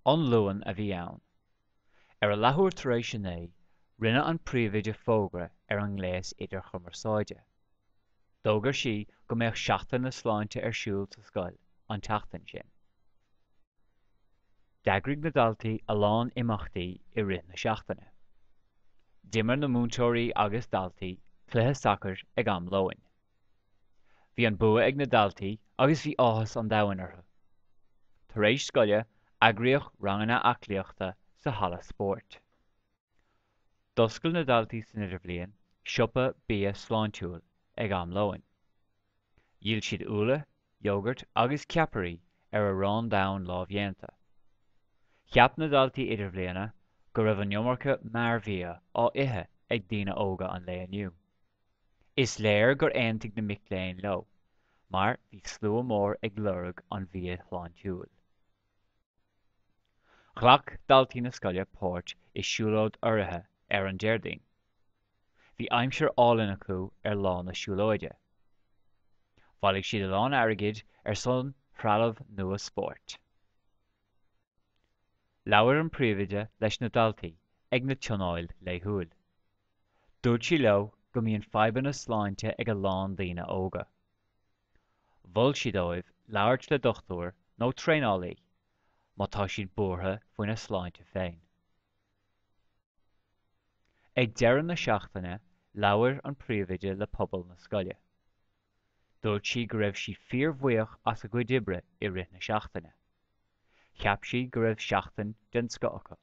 An Luan a bhí ann. Ar a leathuair tar éis a 9, rinne an príomhoide fógra ar an ngléas idirchumarsáide. D'fhógair sí go mbeadh Seachtain na Sláinte ar siúl sa scoil an tseachtain sin. D'eagraigh na daltaí a lán imeachtaí i rith na seachtaine. D'imir na múinteoirí agus daltaí cluiche sacair ag am lóin. Bhí an bua ag na daltaí agus bhí áthas an domhain orthu. Tar éis scoile, eagraíodh ranganna aclaíochta sa halla spóirt. D'oscail na daltaí san Idirbhliain siopa bia sláintiúil ag am lóin. Dhíol siad úlla, iógart agus ceapairí ar arán donn lámhdhéanta. Cheap na daltaí Idirbhliana go raibh an iomarca mearbhia á ithe ag daoine óga an lae inniu. Is léir gur aontaigh na mic léinn leo, mar bhí slua mór ag lorg an bhia shláintiúil. Ghlac daltaí na scoile páirt i siúlóid urraithe ar an Déardaoin. Bhí aimsir álainn acu ar lá na siúlóide. Bhailigh siad a lán airgid ar son threalamh nua spóirt. Labhair an príomhoide leis na daltaí ag na tionóil laethúil. Dúirt sí leo go mbíonn fadhbanna sláinte ag a lán daoine óga. Mhol sí dóibh labhairt le dochtúir nó traenálaí má tá siad buartha faoina sláinte féin. Ag deireadh na seachtaine labhair an príomhoide le pobal na scoile. Dúirt sí go raibh sí fíorbhuíoch as a gcuid oibre i rith na seachtaine. Cheap sí go raibh seachtain den scoth acu.